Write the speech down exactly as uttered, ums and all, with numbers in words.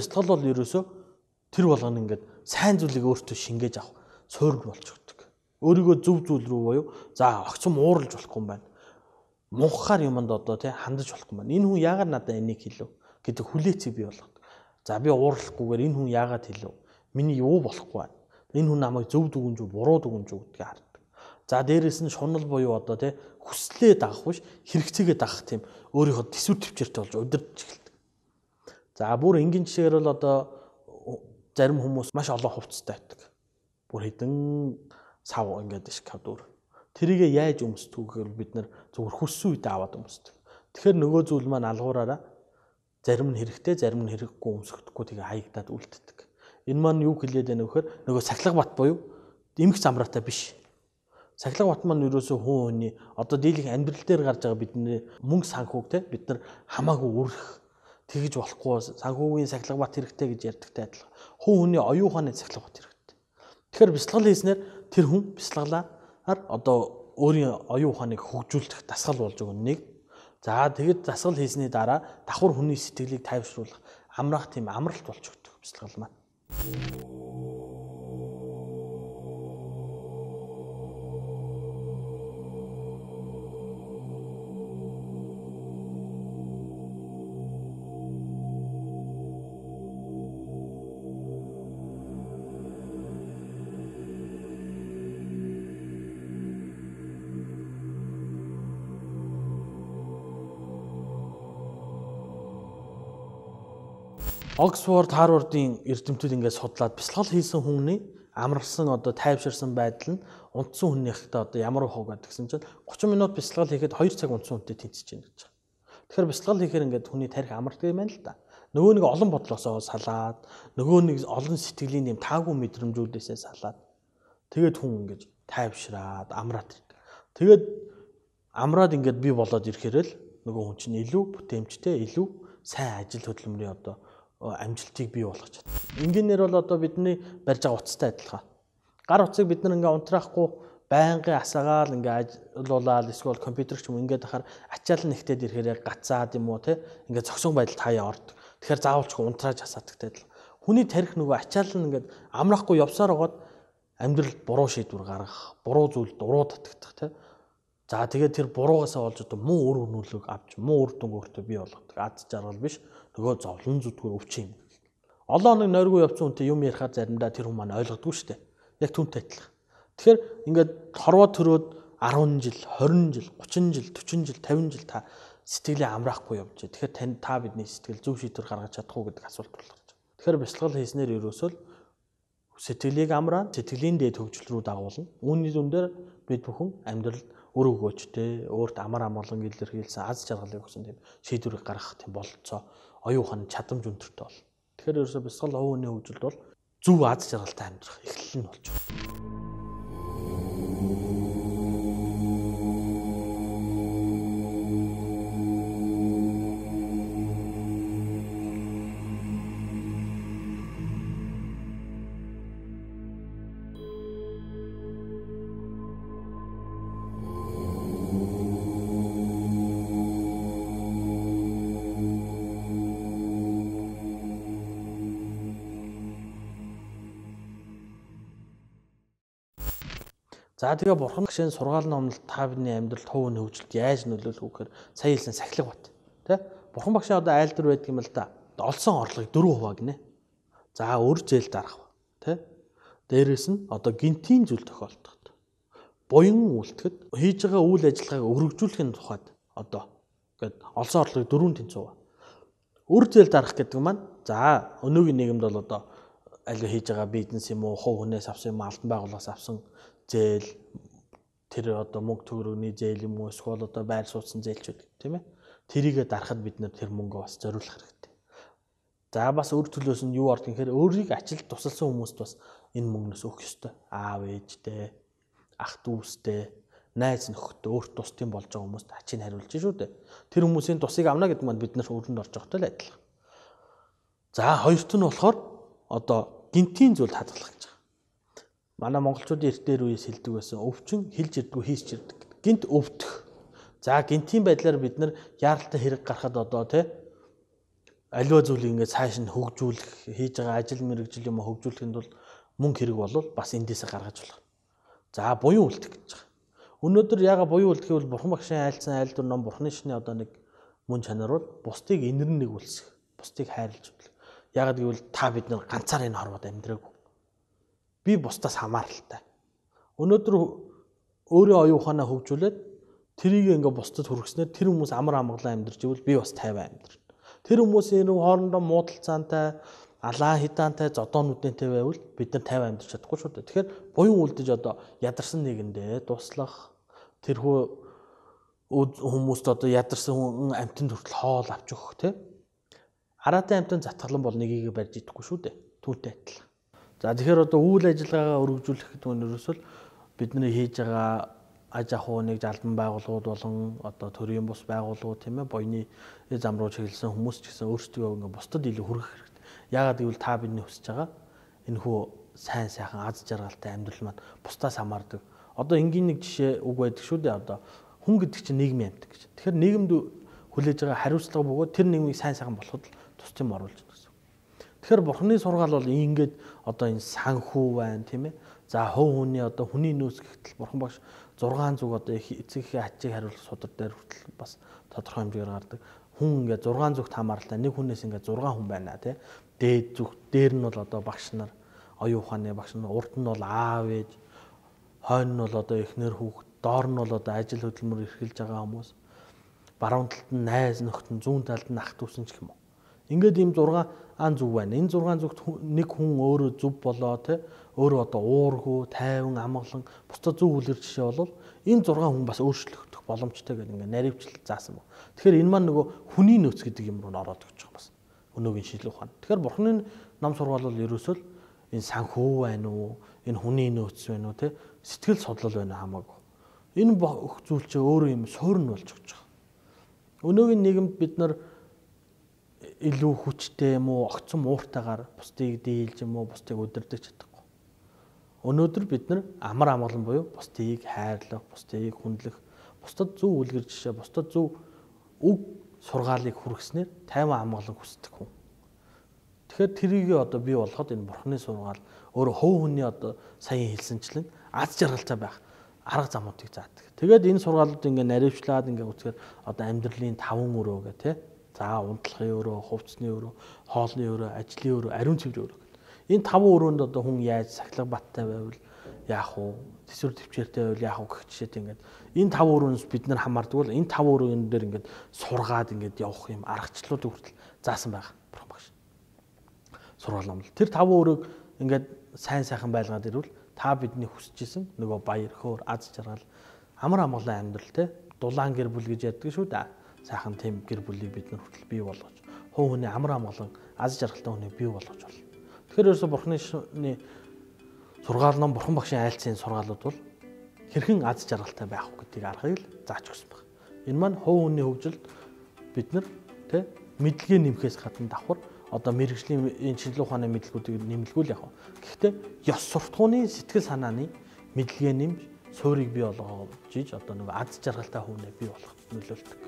бяцлал бол ерөөсөө тэр болгоно ингээд сайн зүйлийг өөртөө шингээж авах суурь болж өгдөг. Өөрийгөө зөв зүйл рүү буюу за огцом ууралж болохгүй юм байна. Мунхаар юмд одоо тий хандаж болохгүй юм байна. Энэ хүн яагаад надад энийг хэлв гэдэг хүлээцийг бий болгодог. За би ууралахгүйгээр энэ хүн яагаад хэлв? Миний юу болохгүй байна? Энэ хүн намайг зөв дүгнж үү, буруу дүгнж үү гэдгийг хардаг. За дээрэс нь шунал буюу одоо тий хүслээ дагах биш хэрэгцээгээ дагах тийм өөрийнхөө төсвөр төвчээртэй болж удирдах эхэлдэг. За бүр энгийн жишээгээр л одоо зарим хүмүүс маш олон хувцастай байдаг. Бүр хэдэн сав ингээд шкаф дөр. Тэрийгэ яаж өмсдөг гэвэл бид нар зөвхөн хүссэн үедээ аваад өмсдөг. Тэгэхээр нөгөө зүйл маань алгуураараа зарим нь хэрэгтэй, зарим нь хэрэггүй өмсөхдөггүй тэгээ хаягдаад үлддэг. Энэ маань юу хэлээд байна вэ гэхээр нөгөө сахилга бат буюу эмх замраатай биш. Сахилга бат маань ерөөсөө хүн хүний одоо дийлэх амьдрал дээр гарч байгаа бидний мөнгө санхүүг те бид нар хамаагүй үрэх тэгж болохгүй санхүүгийн сахилга бат хэрэгтэй гэж ярьдагтай адилхан. Хүн хүний оюун ухааны сахилга бат хэрэгтэй. Тэгэхээр бяцлал хийснээр тэр хүн бяцлаглаар одоо өөрийн оюун ухааныг хөгжүүлэх дасгал болж өгнө нэг. За тэгэд дасгал хийсний дараа давхар хүний сэтгэлийг тайвшруулах амраах тийм амралт болж өгдөг бяцлал маань. Оксфорд, Харвардын эрдэмтдүүд ингээд судлаад бяцлал хийсэн хүний амарсан одоо тайвширсан байдал нь унтсан хүнийхтэй одоо ямар хог гэдгсэн чинь гурван минут бяцлал хийхэд хоёр цаг унтсан хүнтэй тэнцэж байна гэж. Тэгэхээр бяцлал хийхээр ингээд хүний тарих амардаг юм байна л да. Нөгөө нэг олон бодлосоо салаад, нөгөө нэг олон сэтгэлийн юм таагүй мэдрэмжүүдээсээ салаад тэгээд хүн ингээд тайвшраад амраад ирдэг. Тэгээд амраад ингээд бий болоод ирэхээр л нөгөө хүн чинь илүү бүтээмжтэй, илүү сайн ажил хөдөлмөрийн одоо амжилтыг бий болгож чадна. Энгийнээр бол одоо бидний барьж байгаа утастай адилхан. Гар утсыг бид нар ингээ унтраахгүй байнгын асаагаал ингээ ажиллуулаад эсвэл компьютерч юм ингээд ахаар ачаал нэгтээд ирэхээр гацаад юм уу те ингээ зогсон байдалд хаяа ордог. Тэгэхээр заавалч унтрааж хасаадагтай адилхан. Хүний тарих нөгөө ачаал нь ингээ амрахгүй явсаар байгаад амьдралд буруу шийдвэр гаргах, буруу зүйл дуруу татагдах те. За тэгээд тэр буруугаасаа болж одоо муу үр нөлөөг авч муу үр дүнг өөртөө бий болгодог. Аз жаргал биш нөгөө зовлон зүтгүүр өвчин юм. Олон хоног нойргүй явцсан хүнтэй юм ярихаар заримдаа тэр хүн маань ойлгодгүй шүү дээ. Яг түнтэй адилхан. Тэгэхээр ингээд хорвоо төрөөд арван жил, хорин жил, гучин жил, төрчин жил, тавин жил та сэтгэлээ амраахгүй явж байгаа. Тэгэхээр тань та бидний сэтгэл зөв шийдвэр гаргаж чадах уу гэдэг асуулт болгож байгаа. Тэгэхээр бяцлал хийснээр ерөөсөө сэтгэлийг амраа, сэтгэлийн дээд хөгжил рүү дагуулна. Үүний дүн дээр бид бүхэн амьдралд өр өгөөжтэй, өөрт амар амгалан илэрхийлсэн аз жаргалыг өгсөн тийм шийдвэрийг гаргах тийм бололцоо оюун ухааны чадамж өндөртэй бол. Тэгэхээр ерөөсөө бяцлал хувийн хөгжилд бол зөв аз жаргалтай амьдрах эхлэл нь болж байна. За тэгээ бурхан гişэн сургаал номлолт та бидний амьдралд хувийн хөгжилд яаж нөлөөлөх вэ гэхээр сая хэлсэн сахилга бат. Тэ? Бурхан багшаа одоо айлдар байдаг юм л да. Олсон орлогыг дөрвөн хуваа гинэ. За өр зээл дарах. Тэ? Дээрээс нь одоо гинтийн зүйл тохиолдоход. Буян үйлдэхэд хийж байгаа үйл ажиллагааг өргөжүүлэхийн тухайд одоо гээд олсон орлогыг дөрвөн тэнцүү. Өр зээл дарах гэдэг маань за өнөөгийн нийгэмд бол одоо аль хийж байгаа бизнес юм уу, хувь хүнээс авсан юм, албан байгууллагаас авсан зээл тэр одоо мөнгө төгрөгийн зээл юм уу эсвэл одоо байр сууцсан зээлчүүд тийм ээ тэрийгэ дарахад бид нэр тэр мөнгөө бас зориулах хэрэгтэй. За бас өр төлөөс нь юу орд гэхээр өөрийг ажилд тусалсан хүмүүст бас энэ мөнгнөөс өгөх ёстой. Аав ээжтэй, ах дүүстэй, найз нөхөдтэй өөрт тусдсан болж байгаа хүмүүст ачийг хариулж шүү дээ. Тэр хүмүүсийн тусыг авна гэдэг маань бид нар өрөнд орж байгаатай л адилхан. За хоёрт нь болохоор одоо гинтийн зүйл хадгалах гэж. Манай монголчуудын эрт дээр үеэс хэлдэг байсан өвчин хэлж ирдгүү хийсч ирдэг. Гинт өвдөх. За гинтийн байдлаар бид нар яаралтай хэрэг гарахад одоо тий аливаа зүйлийг ингээд цааш нь хөгжүүлэх, хийж байгаа ажил мэргэжил юм хөгжүүлэхэд бол мөнгө хэрэг болвол бас эндээсээ гаргаж болох. За буюу үлдэх гэж байгаа. Өнөөдөр яга буюу үлдэх гэвэл бурхан багшийн айлцсан айл дүр ном бурханы шний одоо нэг мөн чанар бол бусдыг инэрн нэгүүлсэх, бусдыг хайрлаж үлдэх. Ягд гэвэл та бид нар ганцаар энэ хорвоод амьдраагүй. Би бусдаас хамааралтай. Өнөөдөр өөрөө оюун ухаанаа хөгжүүлээд тэрийг ингээ бусдад хүргэснээр тэр хүмүүс амар амгалан амьдарч ивэл би бас тайван амьдрна. Тэр хүмүүсийн хоорондоо муудалцаантай, алаа хидаантай, зодоонуудтай байвал бид нар тайван амьдарч чадахгүй шүү дээ. Тэгэхээр буян үлдэж одоо ядарсан нэгэндээ туслах, тэрхүү хүмүүст одоо ядарсан хүн амтнд хүртэл хоол авч өгөх тий. Араатай амтнд затгалан бол нэгийг барьж идэхгүй шүү дээ. Түүнтэй адилхан. За тэгэхээр одоо үйл ажиллагаагаа өргөжүүлэх гэдэг нь ерөөсөө бидний хийж байгаа аж ахуйныг жалбан байгууллагууд болон одоо төрийн бус байгууллагууд тийм ээ боёны зам руу чиглэсэн хүмүүс ч гэсэн өөрсдөө ингээ бусдад илүү хүргэх хэрэгтэй. Яагаад гэвэл та бидний хүсэж байгаа энэ хүү сайн сайхан аз жаргалтай амьдрал маань бусдаас хамаардаг. Одоо энгийн нэг жишээ үг байдаг шүү дээ. Одоо хүн гэдэг чинь нийгмийн амьтан гэж. Тэгэхээр нийгэмд хүлээж байгаа хариуцлага бөгөөд тэр нийгмийг сайн сайхан болоход тус юм оруулж байна гэсэн. Тэгэхээр бурхны сургаал бол ингээд одоо энэ санхүү байна тийм ээ. За хов хүний одоо хүний нөөц гэхтэл бурхан багш зургаан зүг одоо эцэгхийн ачийг хариулах судар дээр хүртэл бас тодорхой хэмжээгээр гардаг. Хүн ингээд зургаан зүгт хамааралтай нэг хүнээс ингээд зургаан хүн байна тий. Дээд зүг дээр нь бол одоо багш нар оюун ухааны багш нар, урд нь бол аав ээж, хойно нь бол одоо эхнэр хүүхэд, доор нь бол одоо ажил хөдөлмөр эрхэлж байгаа хүмүүс. Баруун талд нь найз нөхд нь, зүүн талд нь ах дүүсэн ч юм уу. Ингээд ийм зургаан зүг байна. Энэ зургаан зүгт нэг хүн өөрөө зөв болоо тий. Өөрөө одоо уургүй, тайван, амгалан бусдад зөв үлгэр жишээ болвол энэ зургаан хүн бас өөрчлөгдөх боломжтой гэдэг ингээд наривчлал заасан баг. Тэгэхээр энэ маань нөгөө хүний нөөц гэдэг юм руу ороод өгч байгаа бас. Өнөөгийн шийдлэх ухаан. Тэгэхээр бурхны нам сургаал бол ерөөсөө энэ санхүү байна уу, энэ хүний нөөц байна уу тий сэтгэл судлал байна хамаагүй. Энэ бүх зүйл чинь өөрөө юм суурн болж өгч байгаа. Өнөөгийн нийгэмд бид нар илүү хүчтэй юм уу, огцом ууртайгаар бусдыг дийлж юм уу, бусдыг удирдах чадахгүй. Өнөөдөр бид нар амар амгалан буюу бусдыг хайрлах, бусдыг хүндлэх, бусдад зөв үлгэр жишээ, бусдад зөв үг сургаалыг хүргэснээр тайван амгалан хүсдэг хүн. Тэгэхээр тэрийг одоо бий болгоход энэ бурхны сургаал өөрөө хөв хүний одоо саяхан хэлсэнчлэн аз жаргалтай байх арга замуудыг заадаг. Тэгээд энэ сургаалууд ингээ наривчлаад ингээ үзэхээр одоо амьдралын таван өрөө гэх тээ. За унтлахын өрөө, хувцсны өрөө, хоолны өрөө, ажлын өрөө, ариун цэврийн өрөө. Энэ таван өрөөнд одоо хүн яаж сахилга баттай байвал яах вэ? Тэсвэр төвчээртэй байвал яах вэ гэх жишээд ингээд энэ таван өрөөнд бид нар хамаардаг бол энэ таван өрөөн дээр ингээд сургаад ингээд явах юм аргачлалууд хүртэл заасан байгаа. Бурхан багш. Сургаал номлол. Тэр таван өрөөг ингээд сайн сайхан байлгаад ирвэл та бидний хүсэжсэн нөгөө баяр, хөөр, аз жаргал, амар амгалан амьдрал те дулаан гэр бүл гэж яддаг шүү дээ. Сайхан тийм гэр бүлийг бид нар хүртэл бий болгож, хов хүний амар амгалан аз жаргалтай хүнийг бий болгож болно. Тэгэхээр ерөөсө бурхны сургаал ном бурхан багшийн айлцсан сургаалууд бол хэрхэн аз жаргалтай байх вэ гэдгийг аргыг л зааж өгсөн байна. Энэ маань хов хүний хөгжилд бид нар тэ мэдлэгээ нэмэхээс гадна давхар одоо мэрэгжлийн энэ шинжилгээ ухааны мэдлгүүдийг нэмэлгүүл яг. Гэхдээ ёс суртахууны сэтгэл санааны мэдлэгээ нэмж суурийг бий болгож иж одоо нэг аз жаргалтай хүнээ бий болгох нөлөөлдөг.